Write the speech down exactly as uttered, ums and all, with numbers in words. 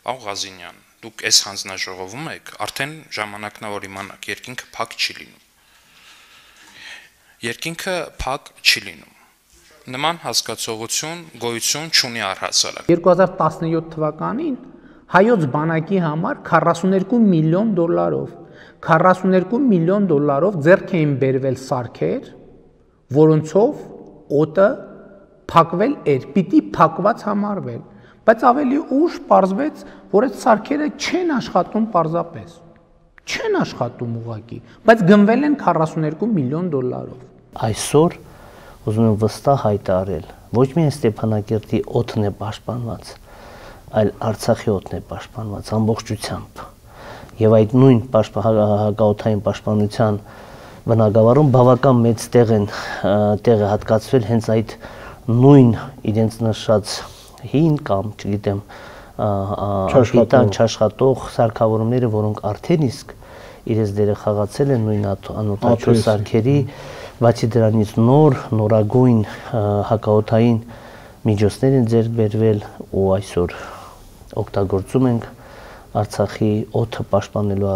Պարոն Ղազինյան, դուք այս հանձնաժողովում եք, արդեն ժամանակն է, որ իմանաք, երկինքը փակ չի լինում։ Երկինքը փակ չի լինում։ Նման հասկացողություն գոյություն չունի առհասարակ։ երկու հազար տասնյոթ թվականին հայոց բանակի համար քառասուներկու միլիոն դոլարով քառասուներկու միլիոն դոլարով ձեռք էին բերվել սարքեր, որոնցով օդը փակվել էր, պիտի փակված համարվել, բայց ավելի ուշ պարզվեց, որ այդ սարքերը չեն աշխատում պարզապես, չեն աշխատում ուղղակի, բայց գնվել են քառասուներկու միլիոն դոլարով։ Այսօր ուզում եմ վստահ հայտարարել, ոչ միայն Ստեփանակերտի օդն է պաշտպանված, այլ Արցախի օդն է պաշտպանված ամբողջությամբ։ Եվ այդ նույն հակաօդային պաշտպանության բնագավառում բավական մեծ տեղ են տեղը հատկացվել հենց այդ նույն իրենց նշած հին կամ, չգիտեմ, չաշխատող չաշխատող սարքավորումները, որոնք արդեն իսկ իրենց դերը խաղացել են նույն անօդաչու սարքերի, բացի դրանից նոր նորագույն հակաօդային միջոցներ են ձեռք բերվել ու այսօր օգտագործում ենք Արցախի օդը պաշտպանելու